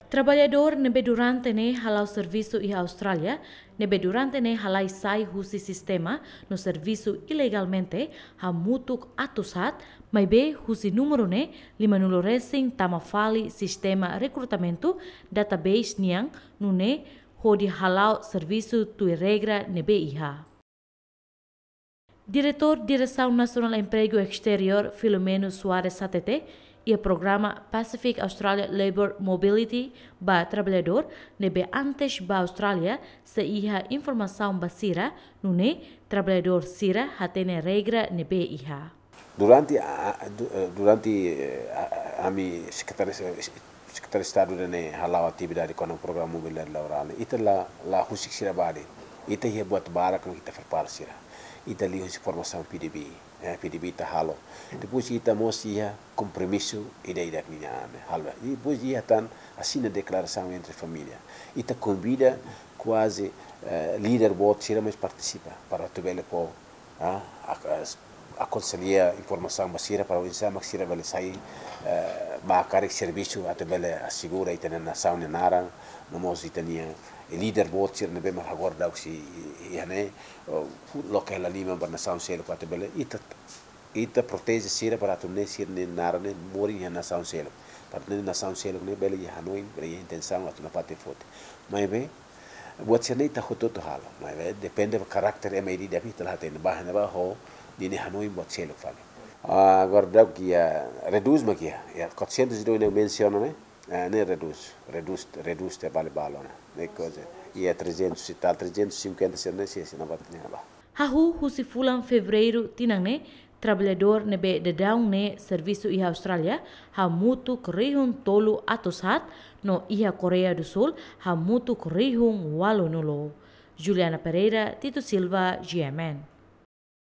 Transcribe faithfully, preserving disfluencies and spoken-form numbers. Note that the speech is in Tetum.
Traballadór ne'ebé durante ne'e hala'o servisu iha Austrália, ne'ebé durante ne'e halai sai husi sistema no servisu ilegalmente, hamutuk atus haat, maibé husi númeru ne'e, limanulu resin tama fali sistema rekrutamentu, database nian, nune'e hodi hala'o servisu tuir regra ne'ebé iha. Diretór Diresaun Nasionál Empregu Esteriór, Filomeno Soares hatete, iha programa Pacific Australia Labour Mobility ba traballadór ne'ebé antes ba Austrália sei iha informasaun ba sira, nune'e traballadór sira hatene regra ne'ebé iha. Durante a, a, du-, eh, durante, eh, a, a, ami sekretáriu, eh, sekretáriu Estadu ne'e hala'o atividade kona-ba programa mobilidade laborál ne'e, ita la, la husik sira ba de'it. Ita iha buat barak ne'ebé ita prepara sira. Ita liuhusi formasaun P D B, eh, P D B ita halo. Depois ita mós iha kompromisu ida-idak nian, eh, halo. Depois iha tan asina deklarasaun entre família. Ita konvida kuaze, eh, líder boot sira mós partisipa para atu bele fó, ah, ak-, as-, akonselha informasaun ba sira para oinsá mak sira bele sai, eh, ba karik servisu atu bele asegura ita-nia nasaun nia naran, no mós ita-nia líder boot sira ne'ebé mak agora daudaun sei iha ne'e, oh, loke hela liman ba nasaun seluk atu bele ita, ita proteje sira para atu nune'e sira-nia naran ne'e morin iha nasaun seluk. Para atu nune'e nasaun seluk ne'e bele iha hanoin, bele iha intensaun atu nafatin foti. Maibé, buat sira-ne'e ita hotu-hotu halo. Maibé, depende ba karakter ema ida-idak ita la hatene ba, ne'ebá ho ninia hanoin buat seluk fali. Ah, agora daudaun iha, redús mak iha, iha quatrocentos e dois ne'e mensiona ne'e, eh, ne'e redús, redús, redús tiha ba balun ona. Ne'e koza, iha trezentos e tal, trezentos e cinquenta sira ne'e, sei, sei nafatin ne'ebá. Hahú husi fulan Fevereiru tinan ne'e, traballadór ne'ebé daudaun ne'e servisu iha Austrália, hamutuk rihun tolu atus haat, no iha Koreia do Sul, hamutuk rihun ualunulu. Juliana Pereira, Tito Silva, G M N.